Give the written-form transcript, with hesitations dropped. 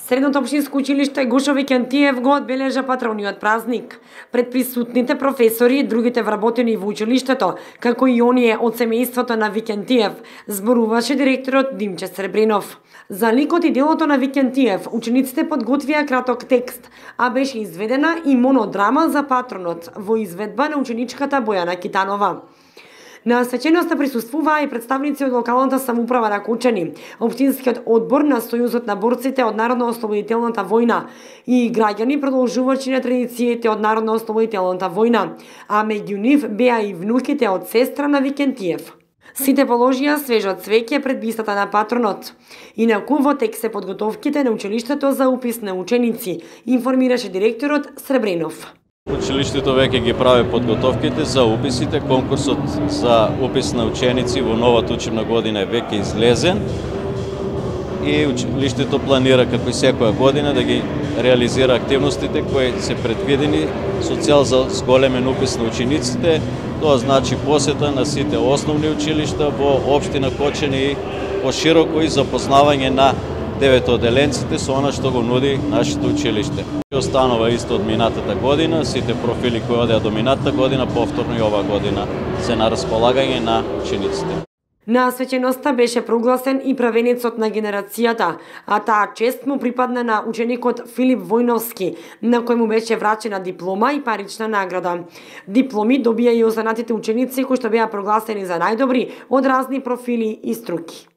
Средното општинско училиште Гошо Викентиев го одбележа патрониот празник. Пред присутните професори и другите вработени во училиштето, како и оние од семејството на Викентиев, зборуваше директорот Димче Сребринов. За ликот и делото на Викентиев, учениците подготвија краток текст, а беше изведена и монодрама за патронот во изведба на ученичката Бојана Китанова. На свеченоста присуствуваа и представници од локалната самоуправа на Кочани, општинскиот одбор на Сојузот на борците од Народно-ослободителната војна и граѓани продолжувачи на традициите од Народно-ослободителната војна, а меѓу нив беа и внуките од сестра на Викентиев. Сите положија свежо цвеќе пред бистата на патронот. Инаку во тек се подготовките на училиштето за упис на ученици, информираше директорот Сребринов. Училиштето веќе ги прави подготовките за уписите. Конкурсот за упис на ученици во новата учебна година е веќе излезен и училиштето планира како и секоја година да ги реализира активностите кои се предвидени со цел за зголемен упис на учениците. Тоа значи посета на сите основни училишта во општина Кочани и пошироко и запознавање на деветоделенците со она што го нуди нашето училиште. Останува исто од минатата година, сите профили кои одеа до минатата година, повторно и ова година се на располагање на учениците. На свеченоста беше прогласен и правенецот на генерацијата, а таа чест му припадна на ученикот Филип Војновски, на кој му беше врачена диплома и парична награда. Дипломи добија и останатите ученици кои што беа прогласени за најдобри од разни профили и струки.